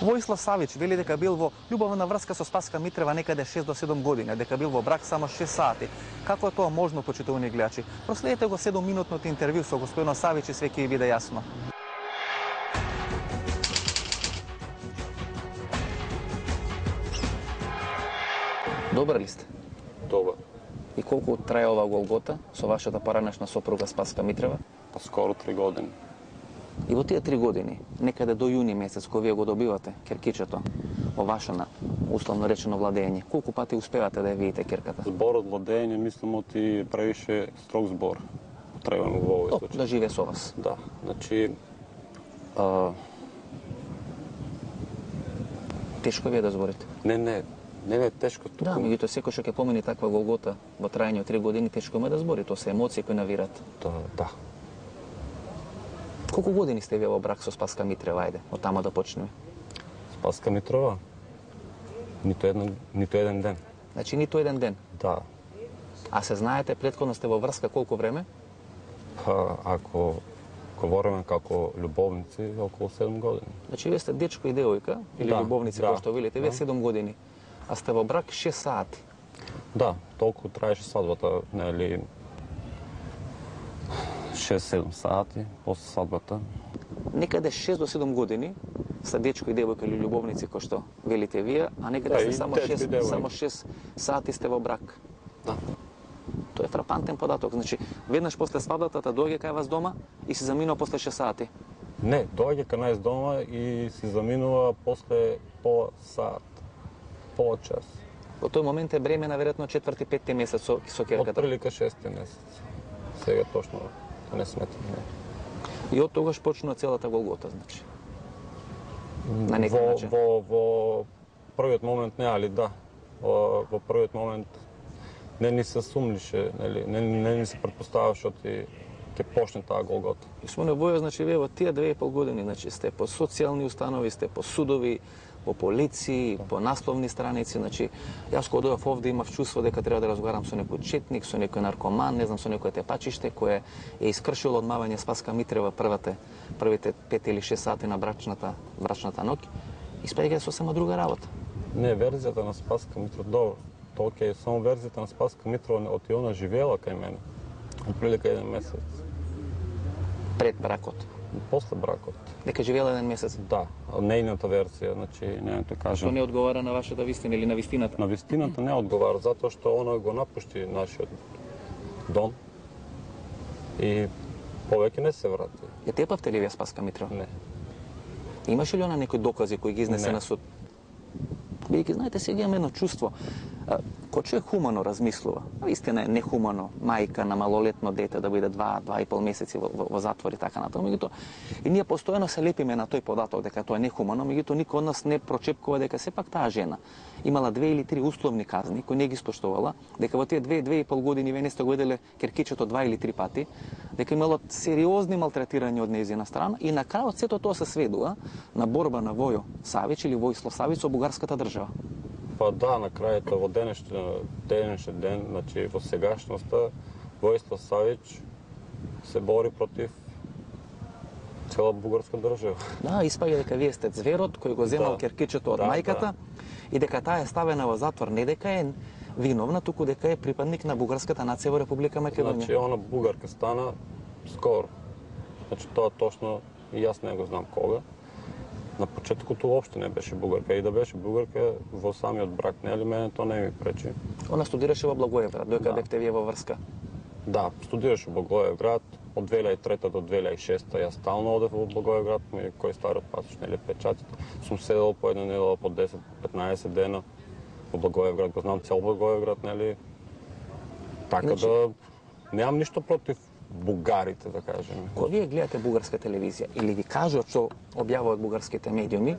Воислав Савич вели дека бил во љубовна врска со Спаска Митрева некаде 6 до 7 години, дека бил во брак само 6 сати. Како е тоа можно, почитувани гледачи? Проследете го 7-минутното интервју со господинот Савич и све ќе ви биде јасно. Добар ли сте? Добар. И колку трае ова голгота со вашата поранешна сопруга Спаска Митрева? Па скоро 3 години. И во тие 3 години, некаде до јуни месец, кога вие го добивате керкичето во ваше, условно речено, владење, колку пати успевате да ја видите керката? Зборот владење, мислам, оти превише строг збор. Потребен во овој случај. Да живее со вас. Да, значи... Тешко ви е да зборите? Не е тешко. Да, меѓутоа секој што ќе помени таква голгота во трајање од 3 години, тешко му е да збори, тоа се емоции кои навират. Да. Колку години сте вие во брак со Спаска Митрева, ајде, од тама да почнеме? Спаска Митрова? Ниту еден ден. Значи ниту еден ден? Да. А се знаете, претходно сте во врска колку време? Па, ако говориме како љубовници, околу 7 години. Значи вие сте дечко и девојка, или љубовници, кој што велите, вие 7 години, а сте во брак 6 сати. Да, толку траеше свадбата, нели 6-7 сати после свадбата. Некаде 6 до 7 години са дечко и девојка или љубовници, кој што велите вие, а некаде сте само 6 сати сте во брак. Да. Тоа е фрапантен податок. Значи, веднаш после свадбата доаѓа кај вас дома и се заминува после 6 сати. Не, доаѓа кај нас дома и се заминува после пола сат, пола час. Во тој момент е бремена веројатно 4-5 месец со керката. Отприлика 6 месец. Сега точно не сметам. И од тогаш почнува целата голгота, значи. На некој начин. Во првиот момент не, али да. Во првиот момент не ни се сумнеше, не ни се претпоставаше ќе почне таа голгота. Господине Војо, значи вие во тие 2,5 години, значи сте по социјални установи, сте по судови, по полиции, по насловни страници, значи јас кога дојдов овде имав чувство дека треба да разговарам со некој четник, со некој наркоман, не знам, со некој тепачиште кој е искршило одмавање Спаска Митрева првите 5 или 6 сати на брачната ноќ. Испаѓа е сосема друга работа. Не, верзијата на Спаска Митрова, добро. Тоа е само верзијата на Спаска Митрова, оти она живеела кај мене. Отприлика 1 месец. Пред бракот? После бракот. Дека живеела 1 месец? Да, нејната верзија, значи, нејното кажам. Што не одговара на вашата вистина или на вистината? На вистината не одговара, затоа што она го напушти нашиот дом и повеќе не се врати. Ја тепавте ли вие Спаска Митрова? Не. Имаше ли она некои докази кои ги изнесе на суд? Бидејќи, знаете, сега имаме едно чувство. Кој човек хумано размислува, истина е нехумано мајка на малолетно дете да биде 2,5 месеци во затвор и така натаму, меѓутоа и ние постојано се лепиме на тој податок дека тоа е нехумано, меѓутоа никој од нас не прочепкува дека сепак таа жена имала 2 или 3 условни казни кои не ги испоштувала, дека во тие 2,5 години вие не сте го виделе керкичето 2 или 3 пати, дека имало сериозни малтретирања од нејзина страна и на крајот сето тоа се сведува на борба на Војо Савич или Воислав Савич со бугарската држава. Па да, на крајата во денешен ден, значи во сегашноста, Воислав Савич се бори против цела бугарска држава. Да, испаѓа дека вие сте зверот кој го земал керкичето од мајката и дека таа е ставена во затвор не дека е виновна, туку дека е припадник на бугарската нација во Република Македонија. Значи, она бугарка стана скоро. Значи, тоа точно и јас не го знам кога. На почетокот уопште не беше бугарка. И да беше бугарка во самиот брак, нели, мене тоа не ми пречи. Она студираше во Благоевград, дојка бевте вие во врска. Да, студираше во Благоевград од 2003 до 2006. Јас стално одев во Благоевград, кој стариот пасош, нели, печатите. Сум седел по една недела по 10-15 дена во Благоевград, го знам цел Благоевград, нели. Така да немам ништо против бугарите, да кажеме. Кога вие гледате бугарска телевизија или ви кажуват што објавуваат бугарските медиуми,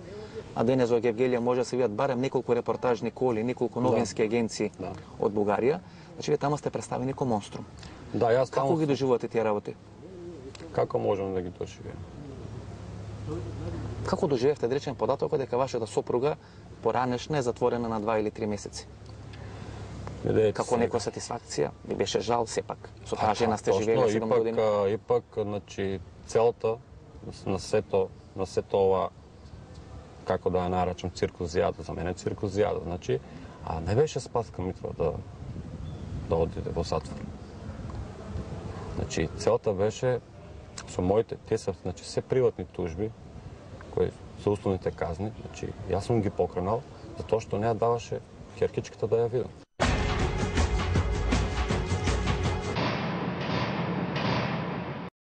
а денес во Гевгелија може да се видат барем неколку репортажни коли, неколку новински агенции од Бугарија, значи вие таму сте представени како монструм. Да, јас Како ги доживувате тие работи? Како можам да ги доживеам? Како доживевте, да речем, податокот дека вашата сопруга поранешна е затворена на 2 или 3 месеци? Како некоја сатисфакција, ви беше жал сепак. Со таа жена сте живееле 7 години. Ипак, значи, целата, на сето ова како да ја наречам циркузијада, за мене циркузијада, значи, а не беше Спаска Митрова да одиде во затвор. Значи, целта беше со моите, те се, значи, се приватни тужби, кои се условните казни, значи, јас сум ги покренал, затоа што не ја даваше ќеркичката да ја видам.